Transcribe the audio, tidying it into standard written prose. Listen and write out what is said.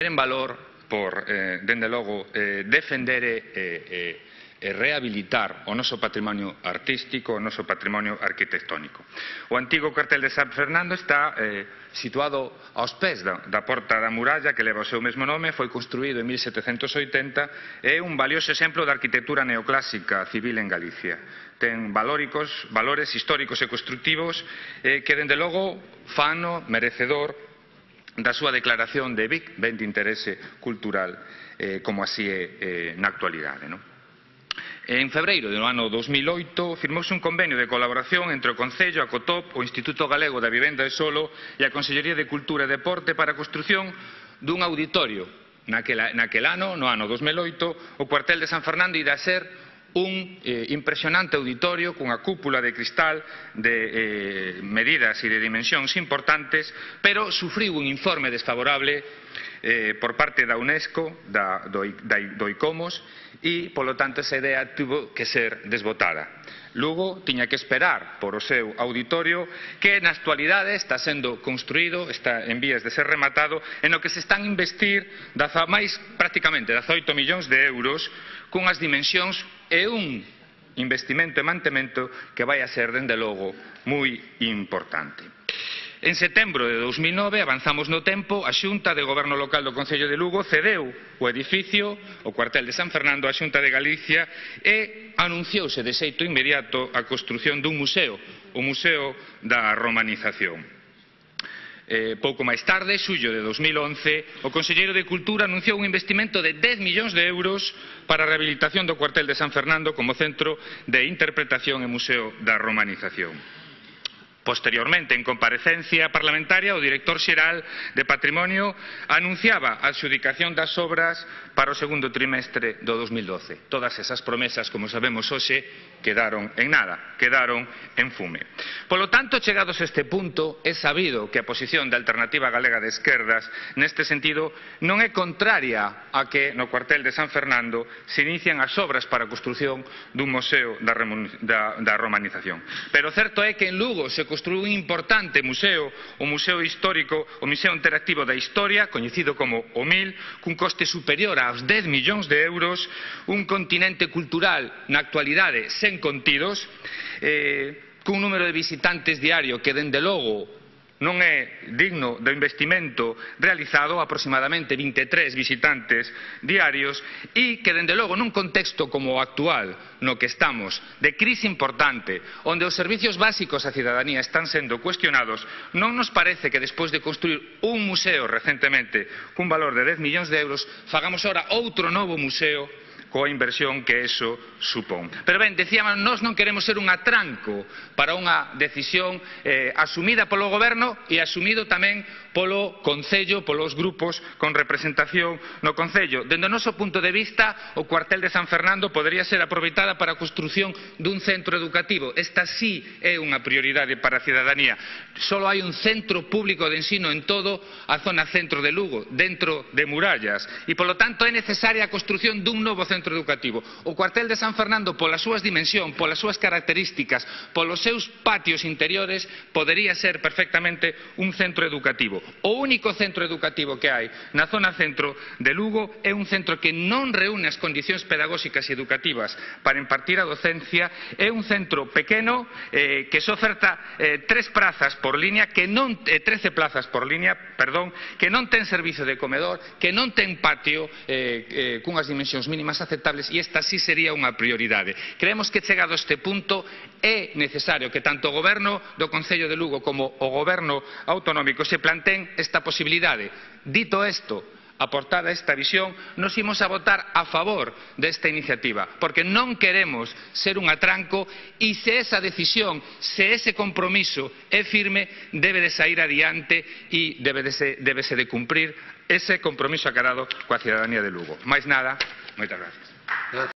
en valor por, dende logo, defender e rehabilitar o noso patrimonio artístico, o noso patrimonio arquitectónico. O antigo cuartel de San Fernando está situado aos pés da Porta da Muralla, que leva o seu mesmo nome, foi construído en 1780 e é un valioso exemplo da arquitectura neoclásica civil en Galicia. Ten valores históricos e constructivos que, dende logo, fano merecedor da súa declaración de ben de interese cultural, como así é na actualidade, non? En febreiro do ano 2008 firmouse un convenio de colaboración entre o Concello, a COTOP, o Instituto Galego da Vivenda e Solo e a Consellería de Cultura e Deporte para a construción dun auditorio. Naquel ano, no ano 2008, o cuartel de San Fernando irá ser un impresionante auditorio cunha cúpula de cristal de medidas e de dimensións importantes, pero sufriu un informe desfavorable por parte da UNESCO, do ICOMOS, e, polo tanto, esa idea tuvo que ser desbotada. Lugo tiña que esperar por o seu auditorio que na actualidade está sendo construído, está en vías de ser rematado, en o que se están a investir prácticamente 18 millóns de euros cunhas dimensións e un investimento e mantemento que vai a ser, dende logo, moi importante. En setembro de 2009, avanzamos no tempo, a Xunta de Goberno Local do Concello de Lugo cedeu o edificio, o cuartel de San Fernando, á Xunta de Galicia e anunciouse de xeito inmediato a construción dun museo, o Museo da Romanización. Pouco máis tarde, xullo de 2011, o Conselleiro de Cultura anunciou un investimento de 10 millóns de euros para a rehabilitación do cuartel de San Fernando como centro de interpretación e museo da romanización. Posteriormente, en comparecencia parlamentaria, o director xeral de Patrimonio anunciaba a adxudicación das obras para o segundo trimestre do 2012. Todas esas promesas, como sabemos hoxe, quedaron en nada, quedaron en fume. Polo tanto, chegados a este punto, é sabido que a posición da Alternativa Galega de Esquerdas, neste sentido, non é contraria a que no cuartel de San Fernando se inician as obras para a construción dun museo da romanización. Pero o certo é que en Lugo se construiu un importante museo, o Museo Histórico, o Museo Interactivo da Historia, coñecido como o MIL, cun coste superior aos 10 millóns de euros, un continente cultural na actualidade sen contidos, cun número de visitantes diario que, dende logo, non é digno do investimento realizado, aproximadamente 23 visitantes diarios, e que, dende logo, nun contexto como o actual, no que estamos, de crise importante, onde os servicios básicos á cidadanía están sendo cuestionados, non nos parece que, despois de construir un museo recentemente cun valor de 10 millóns de euros, fagamos ora outro novo museo coa inversión que eso supón. Pero ben, decíamos, nós non queremos ser un atranco para unha decisión asumida polo Goberno e asumido tamén polo Concello, polos grupos con representación no Concello. Dende o noso punto de vista, o cuartel de San Fernando podería ser aproveitada para a construción dun centro educativo. Esta sí é unha prioridade para a cidadanía. Só hai un centro público de ensino en todo a zona centro de Lugo, dentro de murallas, e, polo tanto, é necesaria a construción dun novo centro educativo. O cuartel de San Fernando, polas súas dimensións, polas súas características, polos seus patios interiores, podería ser perfectamente un centro educativo. O único centro educativo que hai na zona centro de Lugo é un centro que non reúne as condicións pedagóxicas e educativas para impartir a docencia, é un centro pequeno que só oferta 13 plazas por línea, que non ten servizo de comedor, que non ten patio cunhas dimensións mínimas aceptables, e esta sí sería unha prioridade. Creemos que, chegado a este punto, é necesario que tanto o Goberno do Concello de Lugo como o Goberno autonómico se planteen esta posibilidade. Dito isto, aportada esta visión, nos imos a votar a favor desta iniciativa, porque non queremos ser un atranco, e se esa decisión, se ese compromiso é firme, debe de sair adiante e débese de cumprir ese compromiso aclarado coa cidadanía de Lugo. Máis nada, moitas gracias.